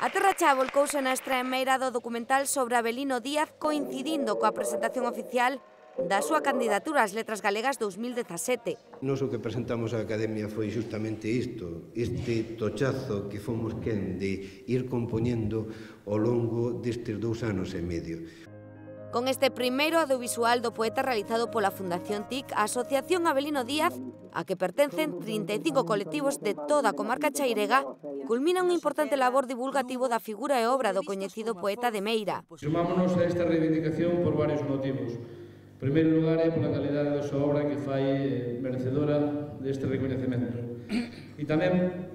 A Terra Chá volcouse na estremeira do documental sobre Avelino Díaz coincidindo coa presentación oficial da súa candidatura ás Letras Galegas 2017. Nos o que presentamos á Academia foi justamente isto, este tochazo que fomos quen de ir compoñendo ao longo destes 2 anos e medio. Con este primeiro audiovisual do poeta realizado pola Fundación TIC, a Asociación Avelino Díaz, a que pertencen 35 colectivos de toda a comarca chairega, culmina un importante labor divulgativo da figura e obra do coñecido poeta de Meira. Sumámonos a esta reivindicación por varios motivos. En primeiro lugar, é pola calidade da súa obra que fai merecedora deste recoñecemento. E tamén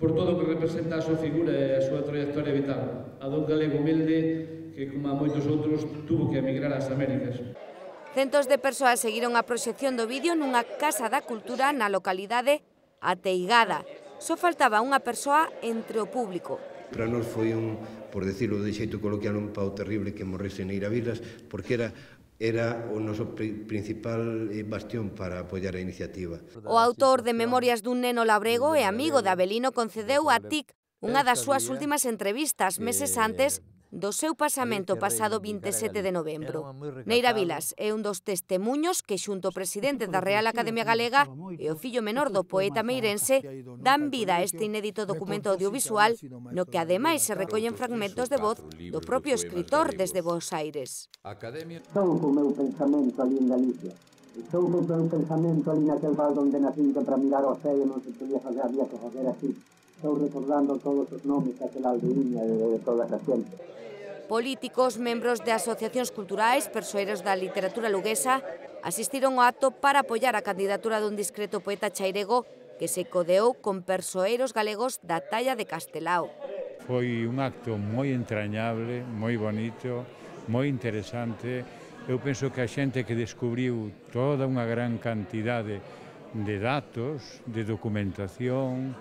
por todo o que representa a súa figura e a súa trayectoria vital, a dun galego humilde que, como a moitos outros, tuvo que emigrar ás Américas. Centos de persoas seguiron a proxección do vídeo nunha casa da cultura na localidade Ateigada. Só faltaba unha persoa entre o público. Para nós foi por decirlo de xeito coloquial, un pau terrible que morrese Neira Vilas, porque era o noso principal bastión para apoiar a iniciativa. O autor de Memorias dun neno labrego e amigo de Avelino concedeu a TIC unha das súas últimas entrevistas meses antes do seu pasamento pasado 27 de novembro. Neira Vilas é un dos testemuños que xunto ao presidente da Real Academia Galega e o fillo menor do poeta meirense dan vida a este inédito documento audiovisual no que ademais se recollen fragmentos de voz do propio escritor desde Bos Aires. Estou co meu pensamento ali en Galicia. Estou co meu pensamento ali naquel val onde nacín que para mirar ao ceo non se podía fazer, había que fazer así. Estou recordando todos os nomes daquela aldeiña de toda a xente. Políticos, membros de asociacións culturais, persoeiros da literatura luguesa, asistiron ao acto para apoiar a candidatura dun discreto poeta chairego que se codeou con persoeiros galegos da talla de Castelao. Foi un acto moi entrañable, moi bonito, moi interesante. Eu penso que a xente que descubriu toda unha gran cantidade de datos, de documentación,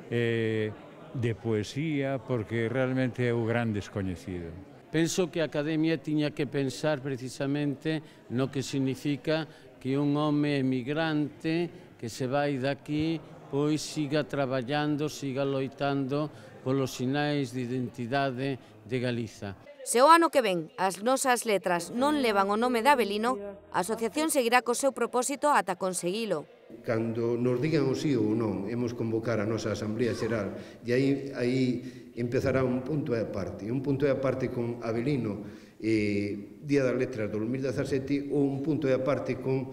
de poesía, porque realmente é o gran descoñecido. Penso que a Academia tiña que pensar precisamente no que significa que un home emigrante que se vai daqui pois siga traballando, siga loitando polos sinais de identidade de Galiza. Se o ano que ven as nosas letras non levan o nome de Avelino, a asociación seguirá co seu propósito ata conseguilo. Cando nos digan o sí ou non, hemos convocar a nosa Asamblea Xeral e aí empezará un punto e aparte. Un punto e aparte con Avelino, Día das Letras do 2017, ou un punto e aparte con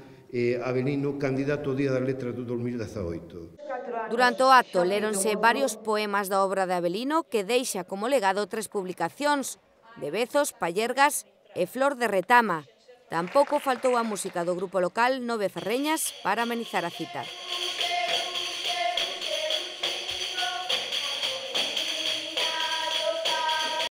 Avelino, candidato ao Día das Letras do 2018. Durante o acto léronse varios poemas da obra de Avelino que deixa como legado 3 publicacións, de Bezos, Pallergas e Flor de Retama. Tampouco faltou a música do grupo local Nove Ferreñas para amenizar a cita.